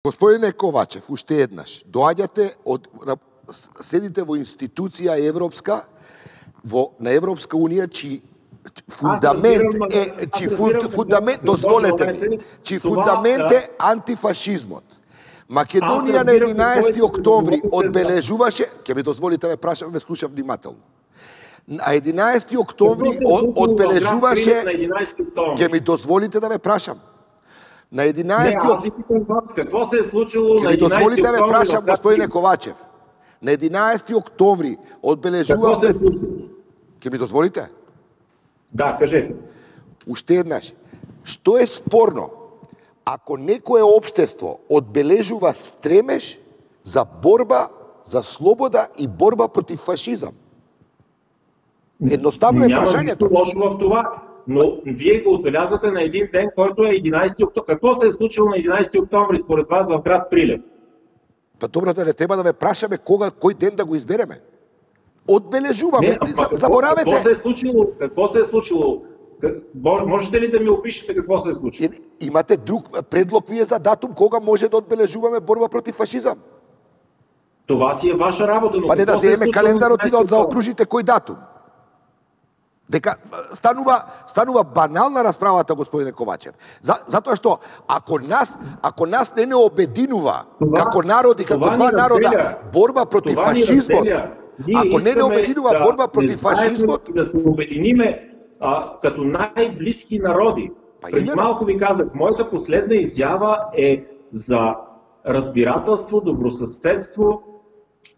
Господине Ковачев, уште еднаш, доаѓате седите во институција европска, на Европска унија, чии фундамент е антифашизмот. Македонија на 11 октомври одбележуваше, ќе ми дозволите ме прашам, ме слушам внимателно. На 11 октомври одбележуваше, ќе ми дозволите да ме прашам. На 11 какво се е случило на 11 октомври? Ќе ми дозволите да ме прашам, господине Ковачев. На 11 октомври одбележуваме... Какво се е случило? Ќе ми дозволите? Да, кажете. Уште еднаш. Што е спорно ако некое општество одбележува стремеж за борба за слобода и борба против фашизам? Едноставно е прашањето. Няма нищо лошо в това, но вие го отбелязвате на един ден, който е 11 октомври. Какво се е случило на 11 октомври според вас в град Прилеп? Па добро, да не треба да ме прашаме кој ден да го избереме. Одбележуваме, заборавете. Какво се е случило? Можете ли да ми опишете какво се е случило? Имате друг предлог вие за датум кога може да одбележуваме борба против фашизам? Това си е ваша работа, но па не да земеме календарот и да заокружите кој датум. Дека станува банална расправата, господине Ковачев. Затоа што ако нас не обединува како народи, како два народа, борба против фашизмот, ако не обединува борба против фашизмот, да се обединиме като най-близки народи. Преди малко ви казах, моята последна изява е за разбирателство, добросъседство,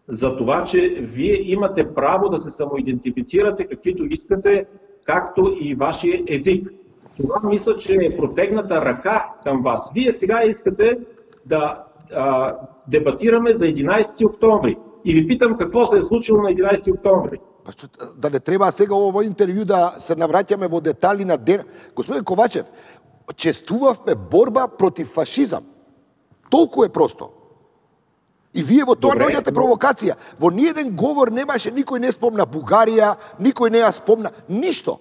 за това, че вие имате право да се самоидентифицирате каквито искате, както и вашия език. Това мисля, че е протегната ръка към вас. Вие сега искате да дебатираме за 11 октомври. И ви питам какво се е случило на 11 октомври. Да не треба сега ово интервју да се навраќаме во детали на ден. Господин Ковачев, чествувавме борба против фашизам. Толку е просто. И вие во тоа наоѓате провокација. Во ниеден говор немаше, никој не спомна Бугарија, никој не ја спомна, ништо.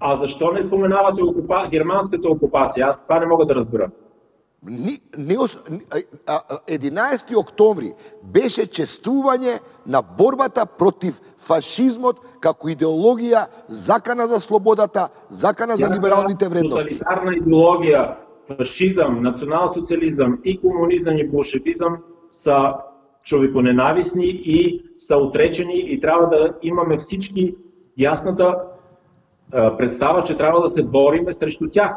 А защо не споменавате германската окупација? Аз това не мога да разбера. 11 октомври беше чествување на борбата против фашизмот како идеологија, закана за слободата, закана за либералните вредности. Тоталитарна идеологија, фашизам, национал-социализам и комунизам и болшевизам са човеконенависни и са отречени и трябва да имаме всички ясната представа, че трябва да се бориме срещу тях.